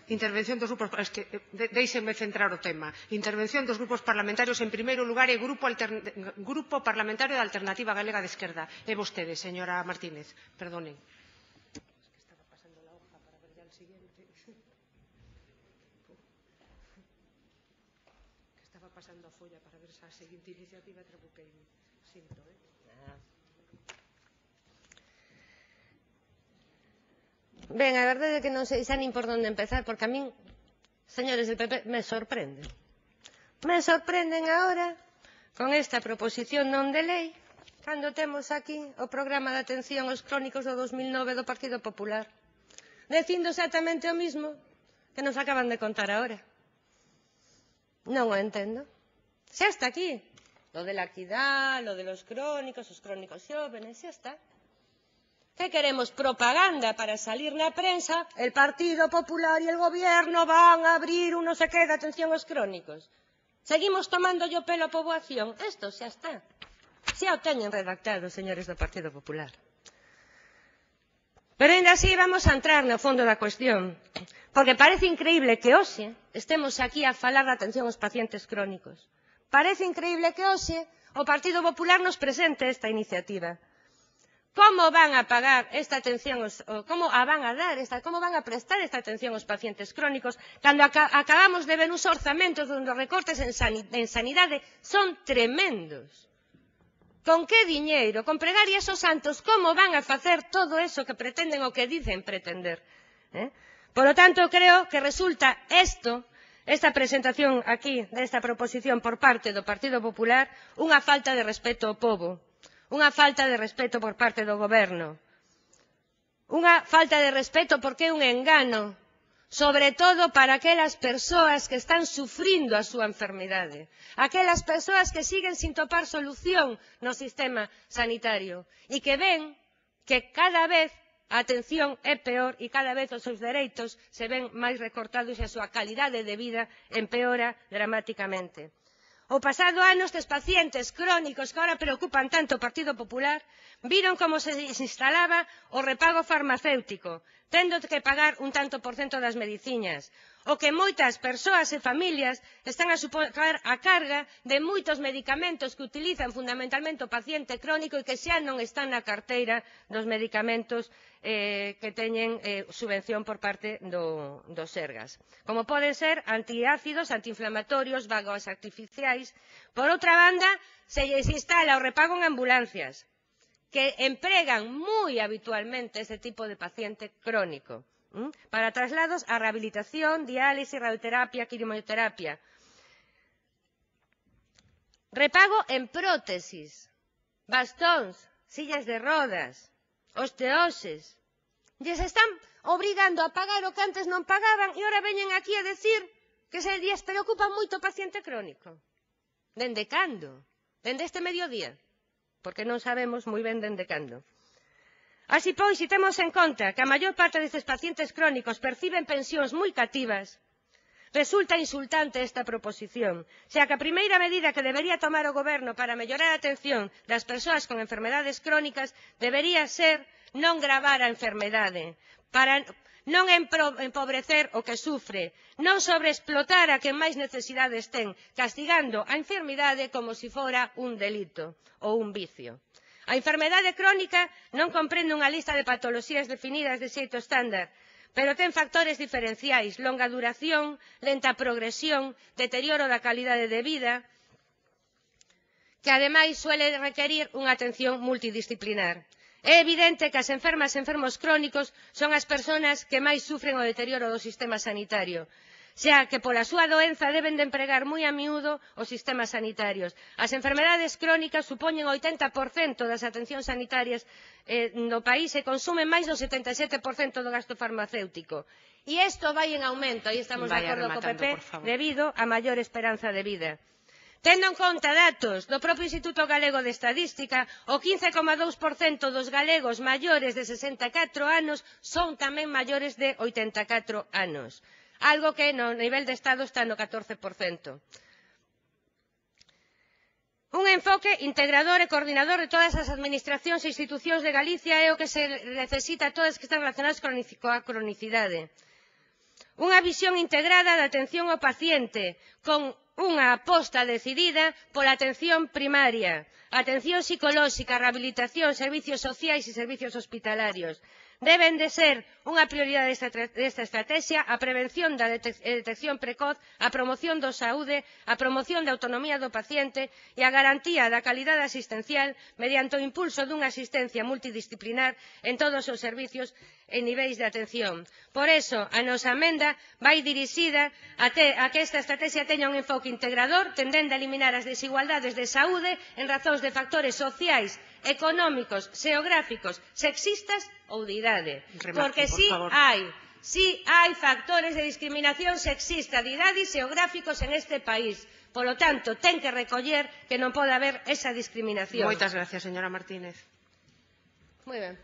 Intervención dos grupos... Déixenme centrar o tema. Intervención dos grupos parlamentarios. En primeiro lugar, é Grupo Parlamentario da Alternativa Galega de Esquerda. É vostede, señora Martínez. Perdonen. Estaba pasando la hoja para ver ya el siguiente. Estaba pasando a folla para ver a seguinte iniciativa e trabuqueime. Sinto, Ben, a verdade é que non sei xa nin por onde empezar, porque a min, señores del PP, me sorprenden. Me sorprenden agora con esta proposición non de lei, cando temos aquí o programa de atención aos crónicos do 2009 do Partido Popular, dicindo exactamente o mismo que nos acaban de contar agora. Non o entendo. Xa está aquí. Lo de la equidad, lo de los crónicos, os crónicos xóvenes, xa está. ¿Qué queremos? Propaganda para salir na prensa. El Partido Popular y el Gobierno van a abrir un no sé qué de atención aos crónicos. Seguimos tomando yo pelo a poboación. Esto xa está. Xa o teñen redactado, señores do Partido Popular. Pero ainda así vamos a entrar no fondo da cuestión. Porque parece increíble que hoxe estemos aquí a falar da atención aos pacientes crónicos. Parece increíble que hoxe o Partido Popular nos presente esta iniciativa. ¿Cómo van a pagar esta atención, cómo van a dar, cómo van a prestar esta atención aos pacientes crónicos cando acabamos de ver uns orzamentos onde os recortes en sanidade son tremendos? Con que diñeiro, con pregarias aos santos, como van a facer todo eso que pretenden o que dicen pretender? Por lo tanto, creo que resulta esta presentación aquí desta proposición por parte do Partido Popular unha falta de respeto ao pobo. Unha falta de respeto por parte do Goberno. Unha falta de respeto porque é un engano, sobre todo para aquelas persoas que están sufrindo a súa enfermidade, aquelas persoas que siguen sin topar solución no sistema sanitario e que ven que cada vez a atención é peor e cada vez os seus dereitos se ven máis recortados e a súa calidade de vida empeora dramáticamente. O pasado ano estes pacientes crónicos que ahora preocupan tanto o Partido Popular viron como se instalaba o repago farmacéutico, tendo que pagar un tanto por cento das medicinas, o que moitas persoas e familias están a suportar a carga de moitos medicamentos que utilizan fundamentalmente o paciente crónico e que xa non están na carteira dos medicamentos que teñen subvención por parte do Sergas, como poden ser antiácidos, antiinflamatorios, vagas artificiais. Por outra banda, se lles instala o repago en ambulancias, que empregan moi habitualmente este tipo de paciente crónico, para traslados a rehabilitación, diálisis, radioterapia, quimioterapia. Repago en prótesis, bastóns, sillas de rodas, osteoses. Lles están obrigando a pagar o que antes non pagaban e ahora veñen aquí a decir que se lles preocupa moito o paciente crónico. Dende cando? Dende este mediodía? Porque non sabemos moi ben dende cando. Así pois, se temos en conta que a maior parte destes pacientes crónicos perciben pensións moi cativas, resulta insultante esta proposición, xa que a primeira medida que debería tomar o Goberno para mellorar a atención das persoas con enfermedades crónicas debería ser non gravar a enfermedade, para non empobrecer o que sufre, non sobreexplotar a quen máis necesidades ten, castigando a enfermidade como se fora un delito ou un vicio. A enfermedade crónica non comprende unha lista de patoloxías definidas de xeito estándar, pero ten factores diferenciais, longa duración, lenta progresión, deterioro da calidade de vida, que ademais suele requerir unha atención multidisciplinar. É evidente que as enfermas e enfermos crónicos son as persoas que máis sufren o deterioro do sistema sanitario, xa que pola súa doenza deben de empregar moi a miúdo os sistemas sanitarios. As enfermedades crónicas supoñen o 80% das atencións sanitarias no país e consumen máis do 77% do gasto farmacéutico. E isto vai en aumento, aí estamos de acordo co PP, debido a maior esperanza de vida. Tendo en conta datos do propio Instituto Galego de Estadística, o 15,2% dos galegos maiores de 64 anos son tamén maiores de 84 anos, algo que no nivel de Estado está no 14%. Un enfoque integrador e coordinador de todas as administracións e institucións de Galicia é o que se necesita a todas que están relacionadas coa cronicidade. Unha visión integrada da atención ao paciente, con unha aposta decidida pola atención primaria, atención psicolóxica, rehabilitación, servicios sociais e servicios hospitalarios. Deben de ser unha prioridade desta estrategia a prevención da detección precoz, a promoción da saúde, a promoción da autonomía do paciente e a garantía da calidade asistencial mediante o impulso dunha asistencia multidisciplinar en todos os servicios e niveis de atención. Por iso, a nosa emenda vai dirixida a que esta estrategia teña un enfoque integrador, tendendo a eliminar as desigualdades de saúde en razóns de factores sociais, económicos, xeográficos, sexistas ou de idade. Porque si hai factores de discriminación sexista de idade e xeográficos en este país. Polo tanto, ten que recoller que non pode haber esa discriminación. Moitas gracias, señora Martínez. Moi ben.